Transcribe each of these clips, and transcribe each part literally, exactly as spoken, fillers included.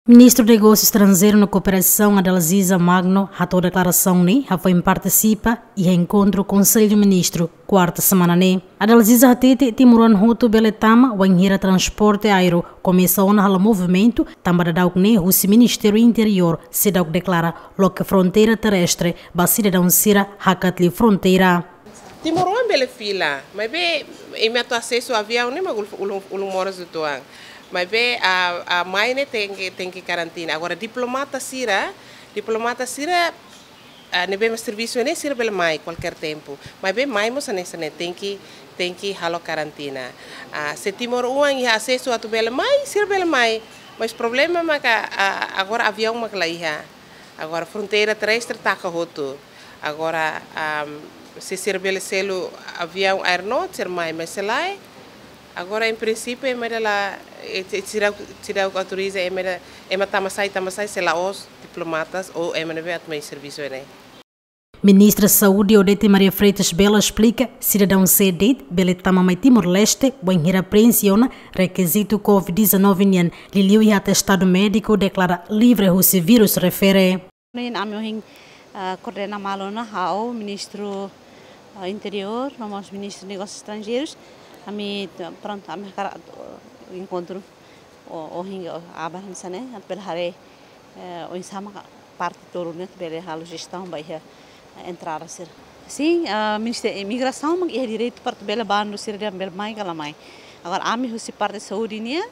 Ministru Negósiu Estranjeiru no Kooperasaun, Adalziza Magno, hato'o deklarasaun ne'e hafoin partisipa iha enkontru Konsellu Ministru kuarta semana ne'e. Adalziza hatete timoroan hotu bele tama wainhira transporte aéreu komesa ona halo movimentu, tanba daudaun ne'e husi Ministériu Interiór seidauk deklara loke fronteira terrestre ba sidadaun sira hakat liu fronteira. Timoroan bele fila, maibé ema atu asesu aviaun ne'e mak ulun, ulun, ulun moras uitoan. Maibé a, a mai ne'e tenke, tenke karantina. Agora diplomata sira, diplomata sira, ah, ne'ebé mak servisu ne'e sira bele mai kualkér tempu. Maibé mai mós hanesan ne'e tenke, tenke halo karantina. Ah, se timoroan iha asesu atu bele mai, sira bele mai. Mas problema maka, ah, agora aviaun mak la iha. Agora fronteira terrestre taka hotu. Agora, am, se sira bele selu aviaun Air North, sira mai, mas se lae, agora em princípio ema dala, eh, ti-, sira, sira autoriza ema da, ema tama sai, tama sai, se la'ós diplomatas ou ema ne'ebé atu mai servisu ne'e. Ministra Saúde Odete Maria Freitas Belo esplika, sidadaun sé de'it bele tama mai Timor-Leste, wainhira preenxe ona rekizitu covid dezanove nian, liuliu iha atestadu médiku deklara livre husi vírus refere. Ne'e ami ohin, ah, koordena malu ona ho Ministru, ah, Interiór, no mós Ministru Negósius Estranjeirus. Ami, prontu, ami hakarak, ah, enkontru, o, ohin, o, aban hanesan ne'e, atu bele haree, eh, oinsá mak parte tolu ne'e atu bele halo jestaun ba iha, eh, entrada sira. Sin, ah, Ministériu Imigrasaun mak iha direitu para atu bele bandu sira dehan bele mai ka la mai. Agora, ami husi parte saúde nian,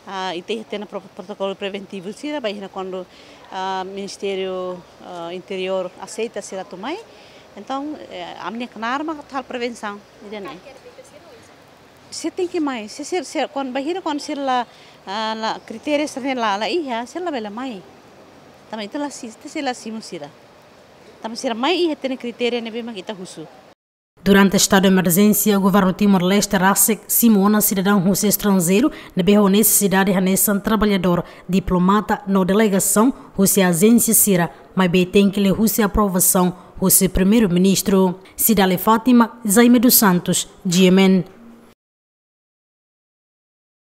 ah, ita iha tiha ona pro-, protokolu preventivu sira, bainhira kuandu, ah, Ministériu, ah, Interiór aseita sira atu mai. Entaun, eh, ami-nia knaar mak atu halo prevensaun, ida-ne'e. Sira tenke mai, se sira, sira, kuandu bainhira kuandu sira la, ah, la kritéria sira-ne'e la, la iha, sira la bele mai. Tanba ita la si-, ita sei la simu sira. Tanba sira mai iha tiha ona kritéria ne'ebé mak ita husu. Durante estadu de emerjénsia, Governu Timor-Leste rasik simu ona sidadaun husi estranjeiru ne'ebé ho nesesidade hanesan traballadór, diplomata no delegasaun husi ajénsia sira, maibé tenke liuhusi aprovasaun husi Primeiru-Ministru. Cidália Fátima, Jaime dos Santos, G M N.